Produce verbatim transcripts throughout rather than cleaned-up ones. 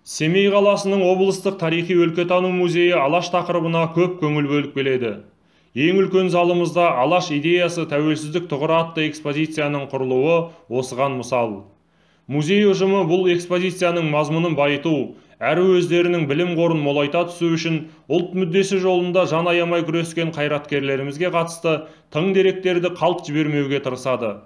Семей қаласының облыстық тарихи-өлкетану музейі Алаш тақырыбына көп көңіл бөліп келеді. Ең үлкен залымызда Алаш идеясы тәуелсіздік тұғыры атты экспозицияның құрылуы осыған мысал. Музей ұжымы бұл экспозицияның мазмұнын байыту, әрі өздерінің білім қорын молайта түсу үшін ұлт мүддесі жолында жан аямай күрескен қайраткерлерімізге қатысты тың деректерді қалт жібермеуге тырысады.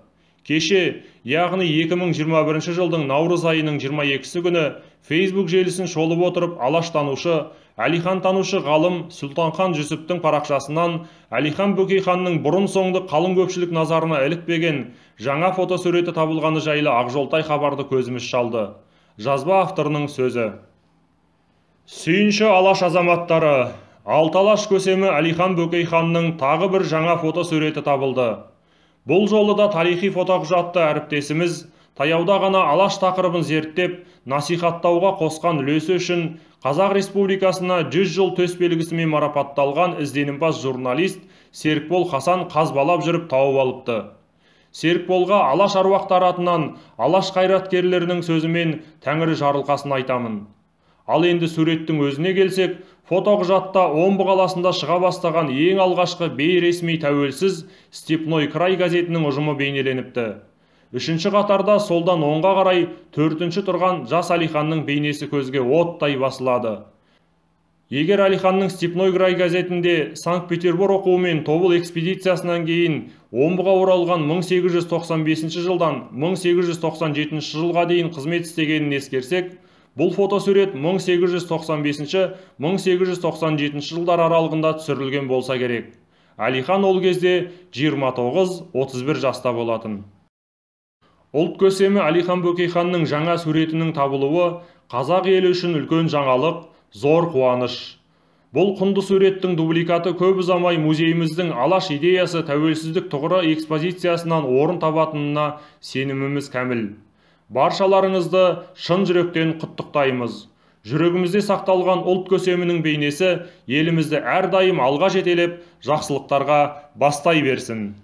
Кеше, яғни екі мың жиырма бірінші жылдың наурыз айының жиырма екісі күні Facebook желісін шолып отырып алаштанушы, Әлихан танушы ғалым Сұлтанхан Жүсіптің парақшасынан Әлихан Бөкейханның бұрын соңды қалың көпшілік назарына ілікпеген жаңа фотосуреті табылғаны жайлы ақжолтай хабарды көзіміз шалды. Жазба авторының сөзі. Сүйінші алаш азаматтары, алты алаш көсемі Әлихан Бөкейханның тағы бір жаңа фотосуреті табылды. Бұл жолы да тарихи фотоқұжатты әріптесіміз таяуда ғана алаш тақырыбын зерттеп, насихаттауға қосқан үлесі үшін Қазақ Республикасына жүз жыл төсбелгісімен марапатталған ізденімпаз журналист Серікбол Хасан қазбалап жүріп тауып алыпты. Серікболға алаш аруақтары атынан алаш қайраткерлерінің сөзімен тәңірі жарылқасын айтамын. Ал енді суреттің өзіне келсек, фотоқұжатта Омбы қаласында шыға бастаған ең алғашқы бейресми тәуелсіз Степной край газетінің ұжымы бейнеленіпті. Үшінші қатарда солдан оңға қарай төртінші тұрған жас Әлиханның бейнесі көзге оттай басылады. Егер Әлиханның Степной край газетінде Санкт-Петербург оқуымен тобыл экспедициясынан кейін Омбыға оралған мың сегіз жүз тоқсан бесінші жылдан мың сегіз жүз тоқсан жетінші жылға дейін қызмет істегенін ескерсек, бұл фотосурет мың сегіз жүз тоқсан бесінші - мың сегіз жүз тоқсан жетінші жылдар аралығында түсірілген болса керек. Әлихан ол кезде жиырма тоғыз - отыз бір жаста болатын. Ұлт көсемі Әлихан Бөкейханның жаңа суретінің табылуы қазақ елі үшін үлкен жаңалық, зор қуаныш. Бұл құнды суреттің дубликаты көп ұзамай музейіміздің алаш идеясы тәуелсіздік тұғыры экспозициясынан орын табатынына сеніміміз кәміл. Баршаларыңызды шын жүректен құттықтаймыз. Жүрегімізде сақталған ұлт көсемінің бейнесі елімізді әрдайым алға жетелеп, жақсылықтарға бастай берсін.